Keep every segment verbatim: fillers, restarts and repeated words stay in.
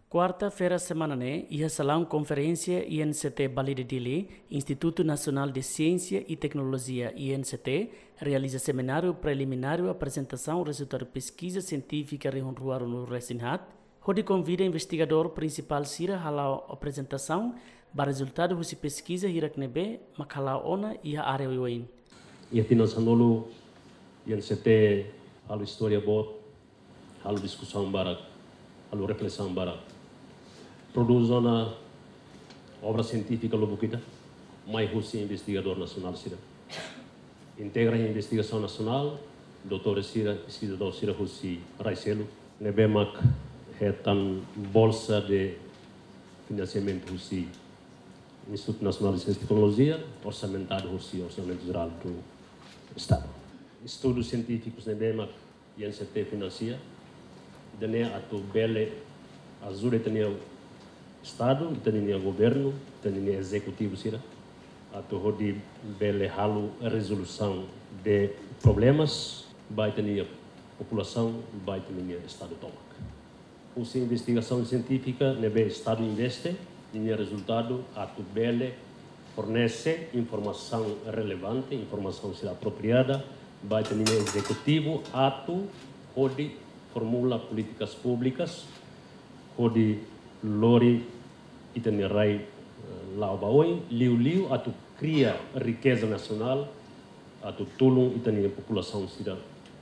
Kuarta-feira semana ne'e, iha salaun konferénsia I N C T Balide Dili, Institutu Nasionál de Siénsia i Teknolojia, I N C T, realiza semináriu preliminár aprezentasaun rezultadu peskiza sientífika rihun rua ruanulu resin haat, hodi konvida investigadór prinsipál sira hala'o aprezentasaun ba rezultadu husi peskiza hirak ne'ebé mak hala'o ona iha área oioin. Iha tinan sanulu, I N C T halo istória boot, halo diskusaun barak, halo reflesaun barak. Prodús ona obra sientífika lubuk ida, mai husi investigadór nasionál sira. Integra investigasaun nasionál, doutór sira, investigadór sira husi rai seluk, ne'ebé mak hetan bolsa de finansiamentu husi Institutu Nasionál de Siénsia i Teknolojia, orsamentadu husi Orsamentu Jerál do Estadu. Estudu sientífikus ne'ebé mak I N C T finansia, ida-ne'e atu bele ajuda ita-nia Estadu, ita-nia governu, ita-nia ezekutivu sira, atu hodi bele halo rezolusaun de problemas ba ita-nia populasaun, ba ita-nia Estadu tomak. Husi investigasaun sientífika ne'ebé Estadu investe, ninia rezultadu atu bele fornese informasaun relevante, informasaun sira apropriada ba ita-nia ezekutivu atu hodi formula polítikas públikas, hodi lori ita-nia rai, eh, la'o ba oin, liuliu atu kria rikeza nasionál, atu tulun ita-nia populasaun sira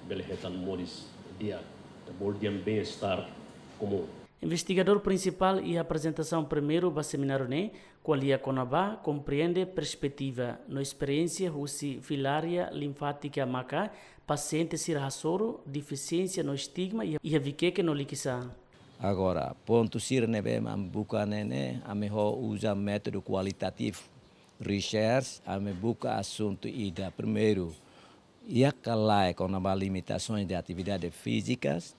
bele hetan moris di'ak, ita bolu dehan bem-estar komún. Investigadór prinsipál iha aprezentasaun primeiru ba semináriu ne'e ko'alia kona-ba komprende perspetiva no esperiénsia husi filária linfátika maka pasiente sira hasoru, defisiénsia no estigma iha, iha Vikeke no Likisá. Agora, pontu sira ne'ebé ami buka ne'e, ami ho uza métodu kualitativu. Research, ami buka asuntu ida primeiru, iha ka lae kona-ba limitasoens de atividade fízikas,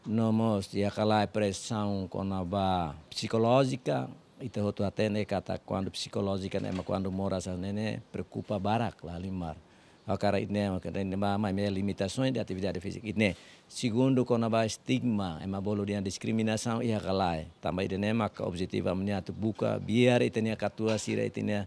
no mós iha ka lae presaun kona-ba psikolójika, ita hotu hatene katak kuandu psikolójika ne'e mak kuandu moras hanesan ne'e preokupa barak la halimar. Hakarak ida-ne'e mak ita hatene ba, maibé limitasoens de atividade fízika. Ida-ne'e, segundu kona-ba estigma, ema bolu dehan diskriminasaun iha ka lae. Tanba ida-ne'e maka objetivu ami-nia atu buka, biar ita-nia katuas sira, ita-nia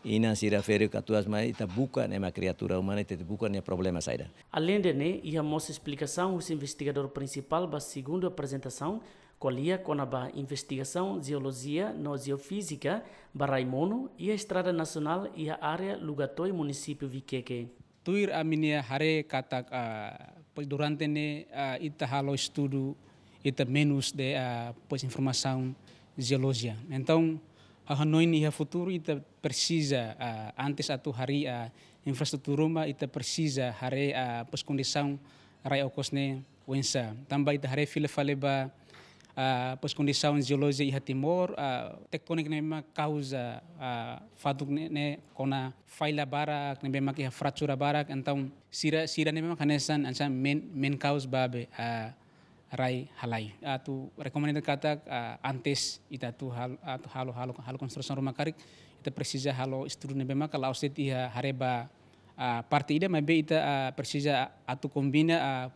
inan sira ferik katuas mai, ita buka ne'e mak kriatura umana, ita buka nia problema saida. Aleinde ne'e, iha mós esplikasaun husi investigadór prinsipál ba segundu aprezentasaun, ko'alia kona-ba investigasaun jeolojia no jeofízika ba rai monu iha estrada nasionál iha área Lugatoi, munisípiu Vikeke. Tuir ami-nia haree katak, ah, pois durante ne'e, ah, ita halo estudu, ita menus de, ah, pois informasaun jeolojia. Entaun, ha'u hanoin iha futuru ita presiza, ah, antes atu harii, ah, infraestrutura ruma, ita presiza haree, ah, pois kondisaun rai okos ne'e oinsá. Tanba ita haree fila fali ba, ah, pois kondisaun jeolojia iha Timor, ah, tektónika ne'e mak kauza, ah, fatuk ne'e, ne'e kona falla barak, ne'ebé mak iha fratura barak, entaun sira, sira ne'ebé mak hanesan, hanesan main, main cause ba be, ah, rai halai. Atu rekomenda katak, ah, antes ita atu hal-, atu halo, halo, halo konstrusaun ruma karik, ita presiza halo estudu ne'ebé maka la'ós de'it iha haree ba, ah, parte ida, maibé ita, ah, presiza atu kombina, ah,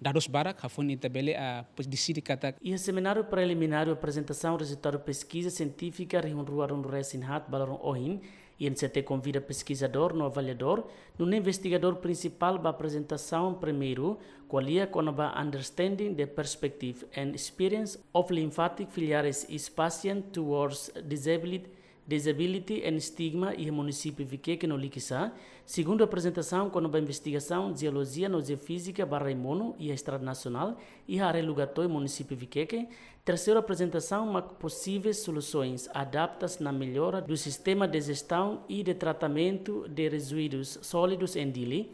dadus barak, hafoin ita bele, ah, pois deside katak. Iha semináriu preliminár aprezentasaun rezultadu peskiza sientífika rihun rua ruanulu resin haat ba loron ohin, I N C T konvida peskizadór no avaliadór, nune'e investigadór prinsipál ba aprezentasaun primeiru, ko'alia kona-ba understanding the perspective and experience of lymphatic filariasis patient towards disability, disability and stigma iha munisípiu Vikeke no Likisá. Segundu aprezentasaun kona-ba investigasaun jeolojia no jeofízika ba rai monu iha estrada nasionál iha área Lugatoi, munisípiu Vikeke. Terseiru aprezentasaun mak posivel solusoens adaptas na mellora do sistema de jestaun i de tratamentu de rezuidus sólidus en Dili.